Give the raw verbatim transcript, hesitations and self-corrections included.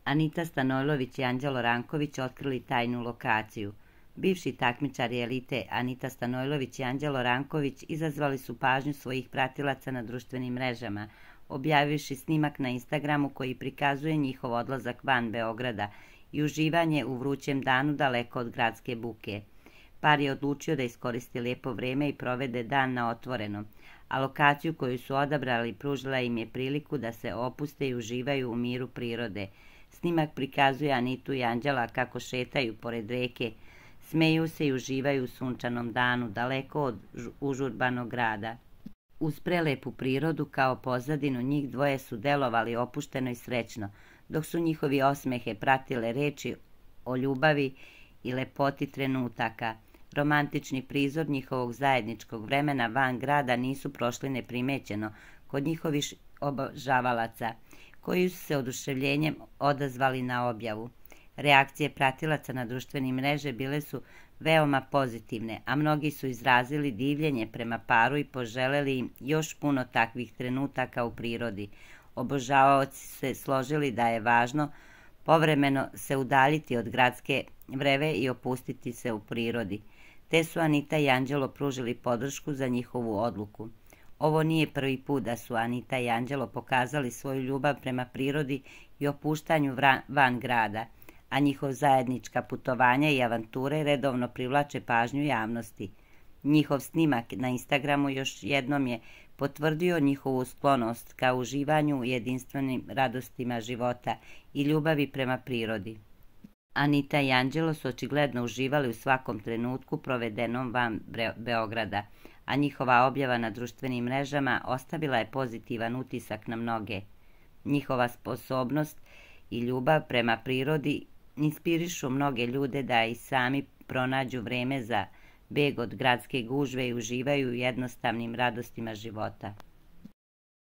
Anita Stanojlović i Anđelo Ranković otkrili tajnu lokaciju. Bivši takmičari elite Anita Stanojlović i Anđelo Ranković izazvali su pažnju svojih pratilaca na društvenim mrežama, objavivši snimak na Instagramu koji prikazuje njihov odlazak van Beograda i uživanje u vrućem danu daleko od gradske buke. Par je odlučio da iskoristi lijepo vreme i provede dan na otvorenom, a lokaciju koju su odabrali pružila im je priliku da se opuste i uživaju u miru prirode. Snimak prikazuje Anitu i Anđela kako šetaju pored reke, smeju se i uživaju u sunčanom danu, daleko od užurbanog grada. Uz prelepu prirodu kao pozadinu njih dvoje su delovali opušteno i srećno, dok su njihovi osmehe pratile reči o ljubavi i lepoti trenutaka. Romantični prizor njihovog zajedničkog vremena van grada nisu prošli neprimećeno kod njihovih obožavalaca, koji su se oduševljenjem odazvali na objavu. Reakcije pratilaca na društvene mreže bile su veoma pozitivne, a mnogi su izrazili divljenje prema paru i poželeli im još puno takvih trenutaka u prirodi. Obožavaoci su se složili da je važno povremeno se udaljiti od gradske vreve i opustiti se u prirodi, te su Anita i Anđelo pružili podršku za njihovu odluku. Ovo nije prvi put da su Anita i Anđelo pokazali svoju ljubav prema prirodi i opuštanju van grada, a njihov zajednička putovanja i avanture redovno privlače pažnju javnosti. Njihov snimak na Instagramu još jednom je potvrdio njihovu sklonost ka uživanju u jedinstvenim radostima života i ljubavi prema prirodi. Anita i Anđelo su očigledno uživali u svakom trenutku provedenom van Beograda, a njihova objava na društvenim mrežama ostavila je pozitivan utisak na mnoge. Njihova sposobnost i ljubav prema prirodi inspirišu mnoge ljude da i sami pronađu vreme za beg od gradske gužve i uživaju u jednostavnim radostima života.